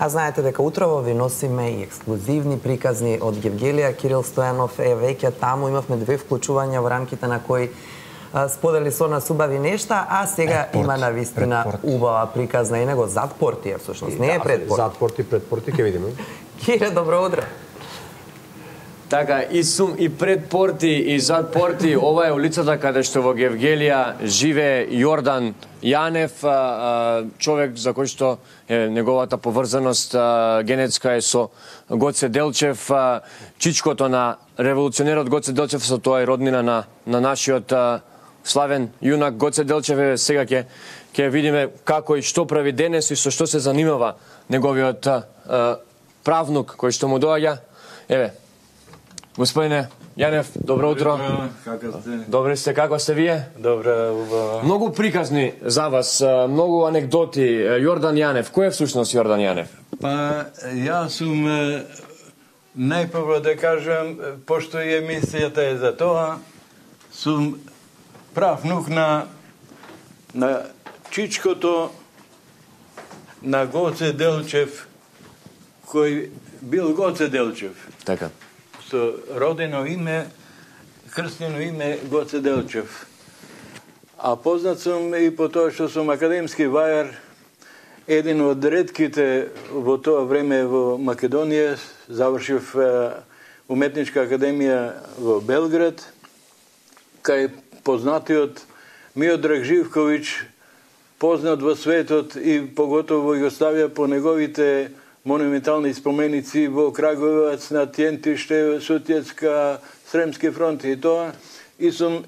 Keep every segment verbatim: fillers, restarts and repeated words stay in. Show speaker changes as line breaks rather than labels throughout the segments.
А знаете дека утрово ви носиме и ексклузивни приказни од Евгелија Кирил Стојанов. Е, веќе таму имавме две вклучувања во рамките на кои а, сподели со нас убави нешта, а сега
Пред
има навистина убава приказна и него зад порти е всушност, не е пред порти.
Зад порти, пред порти, ќе видиме.
Кире, добро утро.
Така, и сум и пред порти и зад порти. Ова е улицата каде што во Евгелија живее Јордан Јанев, човек за кој што е неговата поврзаност генетска е со Гоце Делчев, чичкото на револуционерот Гоце Делчев, со тоа е роднина на, на нашиот славен јунак Гоце Делчев. Е, сега ќе ќе видиме како и што прави денес и со што се занимава неговиот правнук кој што му доаѓа. Еве, господине Јанев, добро утро.
Како сте?
Добре сте, како сте вие?
Добре, убаво.
Многу приказни за вас, многу анекдоти. Јордан Јанев, кој е всушност Јордан Јанев?
Па, јас сум, најпрво да кажам, пошто и емисијата е за тоа, сум прав внук на, на чичкото на Гоце Делчев, кој бил Гоце Делчев.
Така.
Со родено име, крстено име Гоце Делчев. А познат сум и по тоа што сум академски вајар, еден од ретките во тоа време во Македонија, завршив уметничка академија во Белград, кај познатиот Миодраг Живковиќ, познат во светот и поготово во Југославија по неговите монументални споменици во Краговец, на Тјентиште, Сутјецка, Сремски фронт и тоа. И сум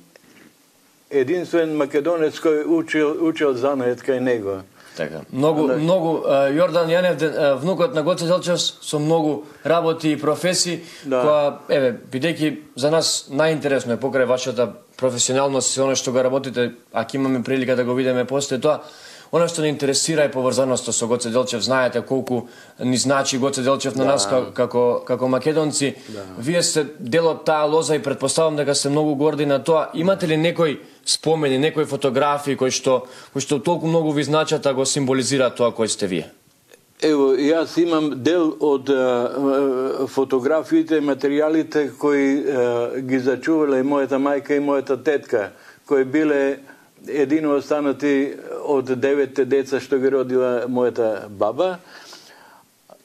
единствен македонец кој учил, учил занает кај него.
Така. Многу, а, многу, Јордан Јанев, внукот на Гоце Делчев, со многу работи и професии, да. Која, еве, бидејќи за нас најинтересно е покрај вашата професионалност и оно што го работите, ако имаме прилика да го видиме после тоа, оно што не интересира е поврзаноста со Гоце Делчев. Знаете колку ни значи Гоце Делчев на да. Нас како, како македонци. Да. Вие сте дел од таа лоза и предпоставам дека сте многу горди на тоа. Имате ли некои спомени, некои фотографии кои што, кои што толку многу ви значат, а го символизира тоа кој сте вие?
Ево, јас имам дел од uh, фотографиите, материјалите кои uh, ги зачувале мојата мајка и мојата тетка, кои биле едино останати од деветте деца што ги родила мојата баба.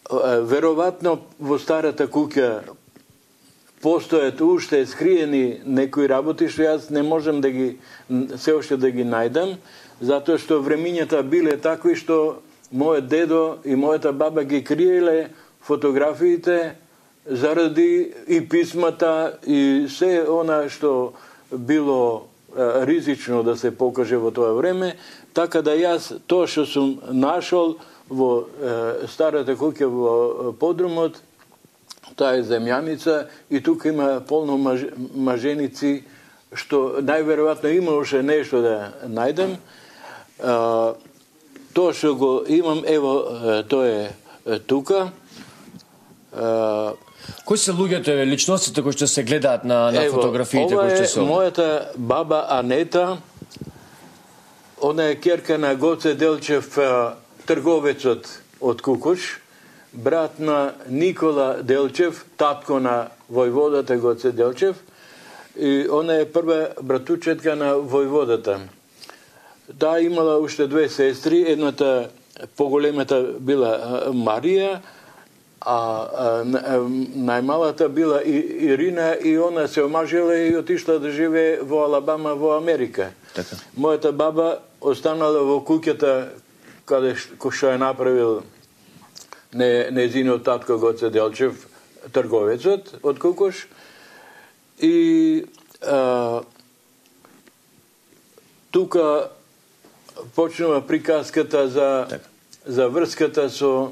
Веројатно во старата куќа постојат уште скриени некои работи што јас не можам да ги се уште да ги најдам, затоа што времињата биле такви што мојот дедо и мојата баба ги криеле фотографиите заради и писмата и се она што било ризично да се покаже во тоа време, така да јас тоа што сум нашол во е, старата куќа во подрумот, таа е земјаница и тука има полно маж, маженици што најверојатно има уште нешто да најдем. А, тоа што го имам, ево, тоа е тука. А,
Кои се луѓето, еве, личностите кои што се гледаат на, на
ево,
фотографиите кои што се?
Ова е мојата баба Анета, она е ќерка на Гоце Делчев, трговецот од Кукуш, брат на Никола Делчев, татко на војводата Гоце Делчев, и она е прва братучетка на војводата. Таа имала уште две сестри, едната поголемата била Марија, а, а најмалата била Ирина и она се омажила и отишла да живее во Алабама во Америка.
Така.
Мојата баба останала во куќата каде што е направил не нејзиниот татко Гоце Делчев, трговецот од Кукуш, и а, тука почнува приказката за така. За врската со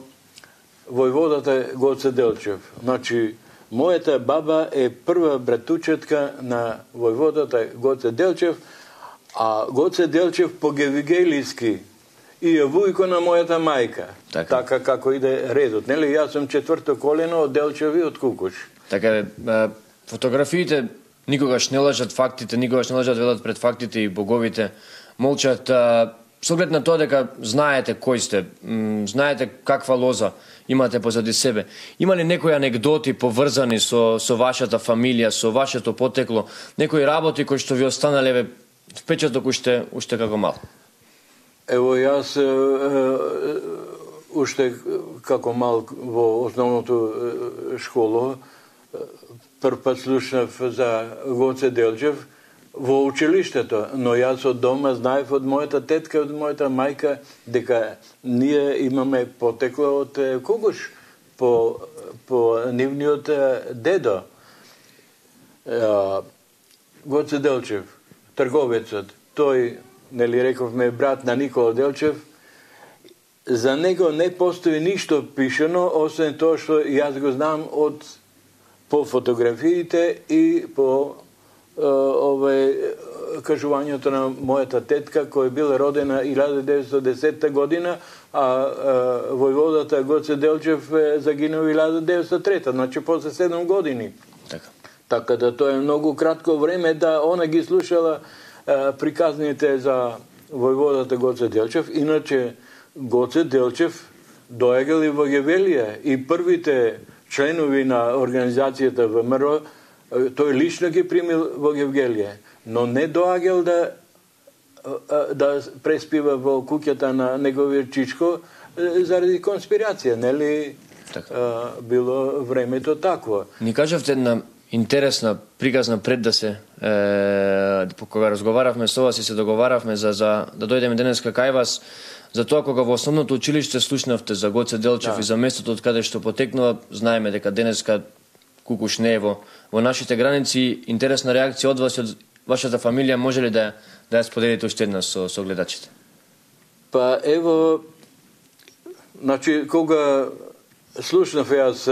војводата Гоце Делчев. Значи, мојата баба е прва братучетка на војводата Гоце Делчев, а Гоце Делчев по гевигелиски и е вујко на мојата мајка. Така, така како иде редот. Нели, јас сум четврто колено од Делчеви од Кукуш.
Така, фотографиите никогаш не лажат, фактите никогаш не лажат, велат пред фактите и боговите молчат. со оглед на тоа дека знаете кој сте, знаете каква лоза имате позади себе. Има ли некои анегдоти поврзани со со вашата фамилија, со вашето потекло, некои работи кои што ви останале впечаток уште уште како мал?
Ево, јас уште како мал во основното школо прв пат слушнав за Гоце Делчев во училиштето, но јас од дома знаев од мојата тетка, од мојата мајка, дека ние имаме потекло од Кугуш по, по нивниот дедо. Гоце Делчев, трговецот, тој, нели рековме, брат на Никола Делчев, за него не постои ништо пишено, освен тоа што јас го знам од по фотографиите и по овој кажувањето на мојата тетка, која била родена илјада деветстотини и десета година, а војводата Гоце Делчев загинува илјада деветстотини и трета, значи после седум години.
Така.
Така да тоа е многу кратко време да она ги слушала приказните за војводата Гоце Делчев. Иначе Гоце Делчев доегал и во Гевелија и првите членови на организацијата ВМРО тој лично ги примил во Гевгелија, но не доаѓал да да преспива во куќата на неговиот чичко заради конспирација, нели? Така. Било времето такво.
Ни кажавте една интересна приказна пред да се е, кога разговаравме со вас и се договаравме за, за да дојдеме денеска кај вас, за тоа кога во основното училиште слушнавте за Гоце Делчев, да, и за местото од каде што потекнува, знаеме дека денеска Кукуш не е во, во нашите граници. Интересна реакција од вас и од вашата фамилија, може ли да да ја споделите уште една со, со гледачите?
Па ево, значи кога слушнав јас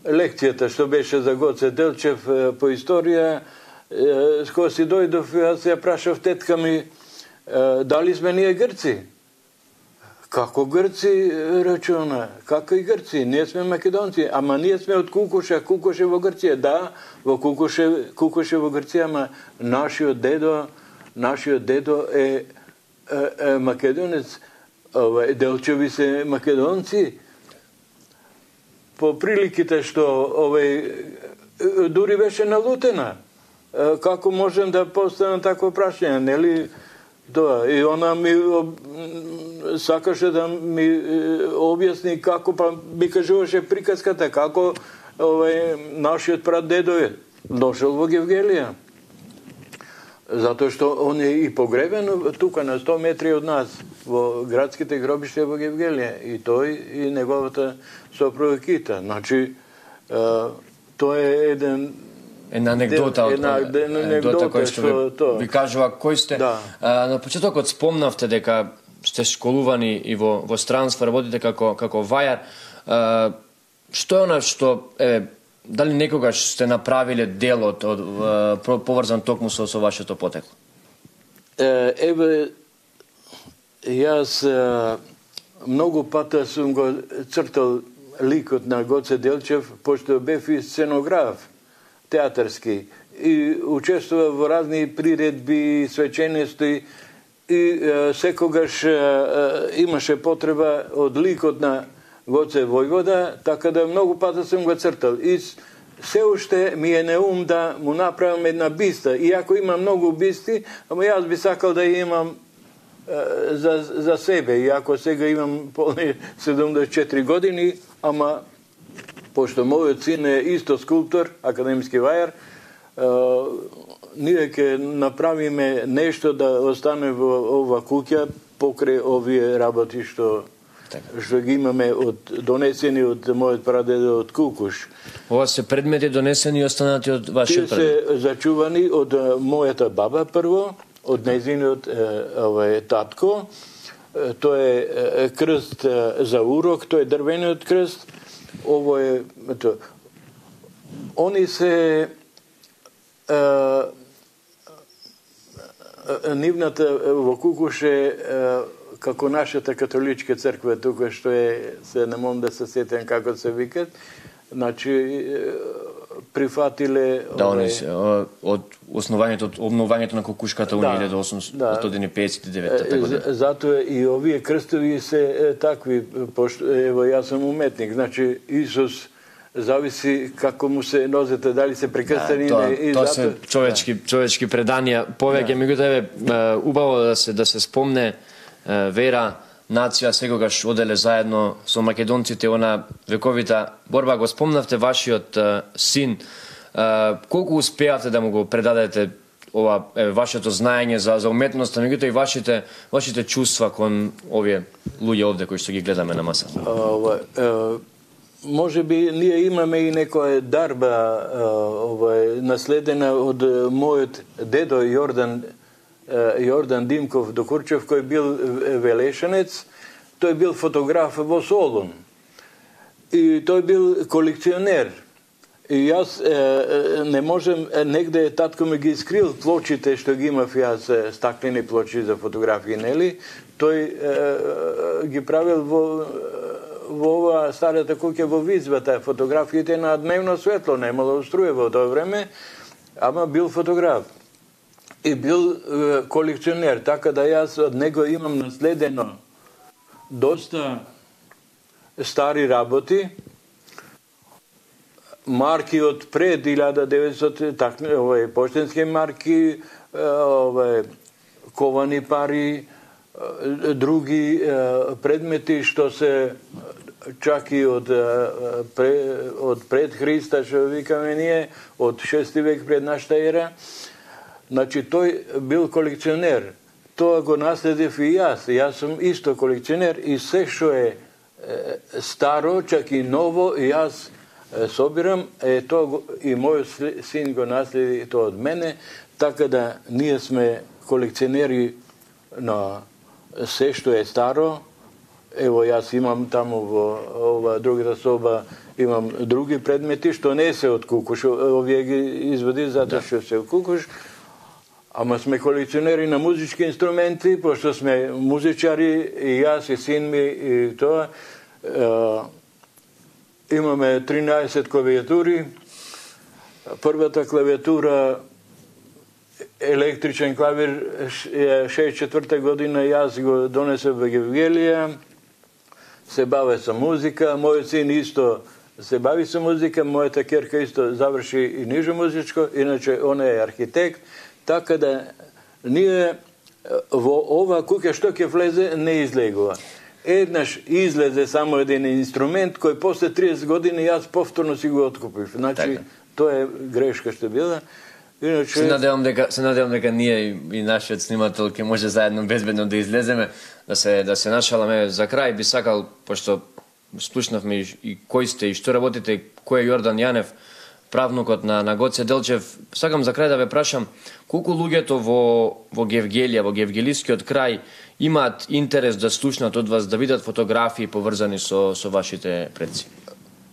лекцијата што беше за Гоце Делчев по историја, кога си дојдов, јас ја прашав тетка ми, дали сме ние Грци? Како Грци, рече она, како и Грци, ние сме македонци, ама ние сме од Кукуша, Кукуш е во Грција, да, во Кукуш е, Кукуш е во Грција, ама нашиот дедо, нашиот дедо е, е, е македонец, ова, Делчеви се македонци, по приликите што овој дури беше налутена, како можем да поставам такво прашање, нели? Тоа, и она ми сакаше да ми објасни како, па ми кажуваше приказката, како овој нашиот прадедо е дошол во Гевгелија. Затоа што он е и погребен тука на сто метри од нас, во градските гробишта во Гевгелија, и тој и неговата сопруга Кита. Значи, тоа е еден
една анегдота од анегдота кој што ви, ви кажува кој сте.
Да.
А, на почетокот спомнавте дека сте школувани и во во странство, работите како како вајар. А, што е она што е, дали некогаш сте направиле делот од поврзан токму со со вашето потекло?
Еве, јас многу пата сум го цртал ликот на Гоце Делчев, пошто бев и сценограф театарски и учествува во разни приредби, свечености и е, секогаш е, е, имаше потреба од ликот на Гоце Војвода, така да многу пата сум го цртал. И се уште ми е неум да му направам една биста. Иако има многу бисти, ама јас би сакал да имам е, за, за себе. Иако сега имам полни седумдесет и четири години, ама пошто мојот син е исто скулптор, академски вајар, ние ќе направиме нешто да остане во ова куќа покрај овие работи што што ги имаме од донесени од мојот прадедо од Кукуш.
Ова се предмети донесени и останати од вашиот
прадедо? Тие се зачувани од мојата баба прво, од нејзиниот овој татко. Тоа е крст за урок, тоа е дрвениот крст. Ово е, ето, они се е, нивната во Кукуш е како нашата католичка црква тука што е, се не можам да се сетам како се викат, значи прифатиле
да, они се од основањето, од обновувањето на кукушката во
да,
илјада осумстотини педесет и девета година.
Затоа и овие крстови се такви, пошто ево јас сум уметник, значи Исус зависи како му се нозете, дали се прекрстени
да,
и
тоа
зато...
се човечки да. човечки преданија повеќе, да. Меѓутоа еве убаво да се да се спомне вера, нација секогаш оделе заедно со македонците она вековита борба. Го спомнавте вашиот син, колку успеавте да му го предадете ова е, вашето знаење за за уметноста, меѓутоа и вашите вашите чувства кон овие луѓе овде кои што ги гледаме на масата?
Ова, е, може би ние имаме и некоја дарба ова, наследена од мојот дедо Јордан Јордан Димков Докурчев, кој бил велешенец. Тој бил фотограф во Солун и тој бил колекционер. И јас е, не можем, негде татко ми ги скрил плочите што ги имав јас, стаклени плочи за фотографии, нели? Тој е, ги правил во во ова старата куќа во Визбата, фотографиите на дневно светло, немало струја во тоа време, ама бил фотограф. И бил е, колекционер, така да јас од него имам наследено доста стари работи, марки од пред илјада деветстотини, так, овај поштенски марки, овај ковани пари, други предмети што се чак и од од пред Христа, што викаме ние, од шести век пред нашата ера. Значи тој бил колекционер. Тоа го наследив и јас. Јас сум исто колекционер и се што е старо, чак и ново, и јас собирам, е тоа и мојот син го наследи тоа од мене, така да ние сме колекционери на се што е старо. Ево јас имам таму во ова другата соба, имам други предмети што не се од кукуш, овие ги извади затоа што се од кукуш. Ама сме колекционери на музички инструменти, пошто сме музичари, и јас, и син ми, и тоа. Е, имаме тринаесет клавиатури. Првата клавиатура, електричен клавир, шеесет и четврта година јас го донесов во Евгелија. Се баве со музика, мојот син исто се бави со музика, мојата ќерка исто заврши и ниже музичко, иначе она е архитект. Така да ние во ова куќа што ќе влезе не излегува. Еднаш излезе само еден инструмент кој после триесет години јас повторно си го откупив. Значи така. Тоа е грешка што била. Иначе
се надевам дека се надевам дека ние и нашиот снимател ќе може заедно безбедно да излеземе, да се да се нашаламе. За крај би сакал, пошто слушнавме и кој сте и што работите, кој е Јордан Јанев, правнукот на на Гоце Делчев, сакам за крај да ве прашам колку луѓето во во Гевгелија, во гевгелискиот крај имаат интерес да слушнат од вас, да видат фотографии поврзани со со вашите предци?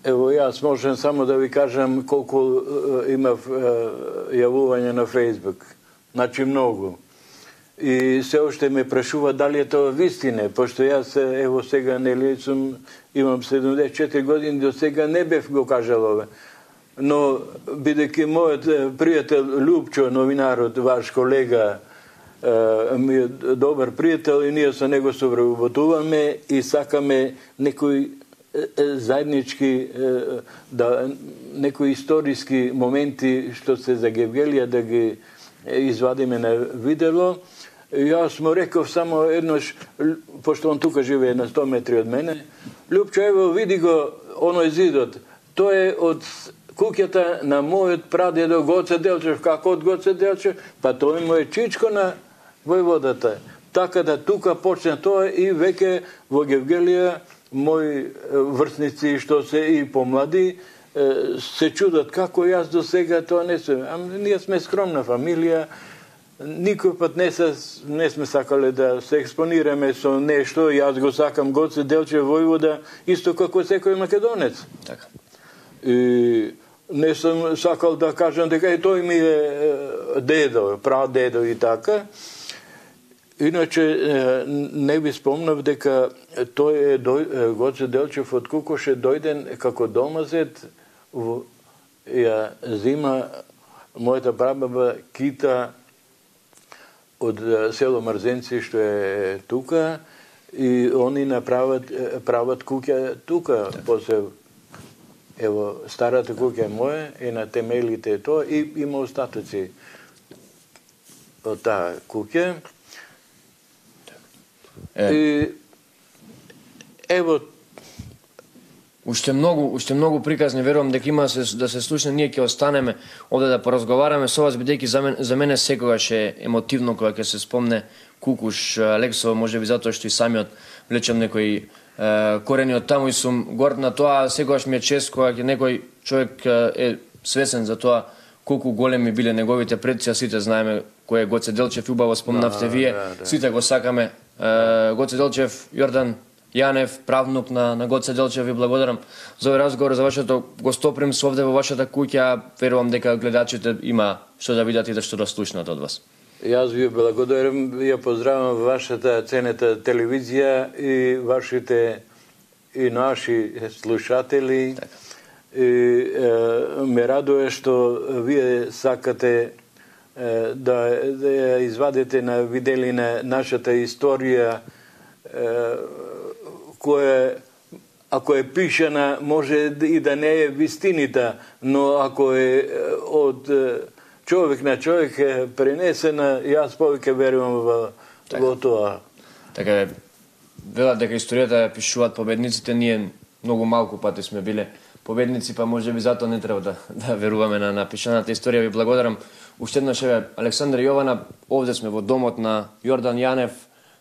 Ево јас можам само да ви кажам колку е, имав е, јавување на Фејсбук. Значи многу. И се уште ме прашува дали е тоа вистина, пошто јас ево сега нели сум имам седумдесет и четири години, до сега не бев го кажал ове. Но бидејќи мојот пријател Лупчо, новинарот, ваш колега, ми е добар пријател и ние со него совработуваме и сакаме некои заеднички, да, некои историски моменти што се за Гевгелија да ги извадиме на видело. Јас му реков само еднош, пошто он тука живее на сто метри од мене, Лупчо, ево види го оној зидот, тоа е од куќата на мојот прадедо Гоце Делчев. Како од Гоце Делчев? Па тој му е чичко на војводата. Така да тука почне тоа и веќе во Гевгелија мои врсници што се и помлади се чудат како јас до сега тоа не сум. Ама ние сме скромна фамилија, никој пат не, се, не сме сакале да се експонираме со нешто. Јас го сакам Гоце Делчев војвода исто како секој македонец.
Така.
И не сум сакал да кажам дека и тој ми е дедо, прадедо и така. Иначе не би спомнав дека тој е дој, Гоце Делчев од Кукуш е дојден како домазет ја зима мојата прабаба кита од село Мрзенци, што е тука, и они направат прават куќа тука. После ево старата куќа е моја и на темелите е тоа, и има остатоци од таа куќа.
Е.
И ево
Уште многу, уште многу приказни, верувам дека има се, да се слушне, ние ќе останеме овде да поразговараме со вас, бидејќи за мене, за мене секогаш е емотивно кога ќе се спомне Кукуш Алексово, можеби затоа што и самиот влечам некои е, корени од таму и сум горд на тоа. Секогаш ми е чест кога ќе некој човек е свесен за тоа колку големи биле неговите предци, а сите знаеме кој е Гоце Делчев, убаво спомнавте вие,
да, да.
Сите го сакаме. Е, Гоце Делчев, Јордан Јанев, правнук на, на Гоце Делчев, ви благодарам за овој разговор, за вашето гостопримство овде во вашата куќа. Верувам дека гледачите има што да видат и да што да слушнат од вас.
Јас ви благодарам, ја поздравам вашата ценета телевизија и вашите и наши слушатели.
Така.
И е, ме радуе што вие сакате е, да, да ја извадите на виделина нашата историја, е, која ако е пишана може и да не е вистинита, но ако е од човек на човек е пренесена, јас повеќе верувам во, во тоа.
Така е, велат дека историјата ја пишуваат победниците, ние многу малку пати сме биле победници, па може би затоа не треба да, да веруваме на напишаната историја. Ви благодарам уште еднаш, еве, Александар Јована, овде сме во домот на Јордан Јанев,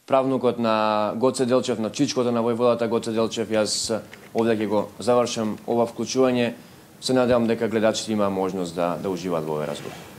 правнукот на Гоце Делчев, на чичкото на војводата Гоце Делчев. Јас овде ќе го завршам ова вклучување. Се надевам дека гледачите има можност да, да уживаат во овој разговор.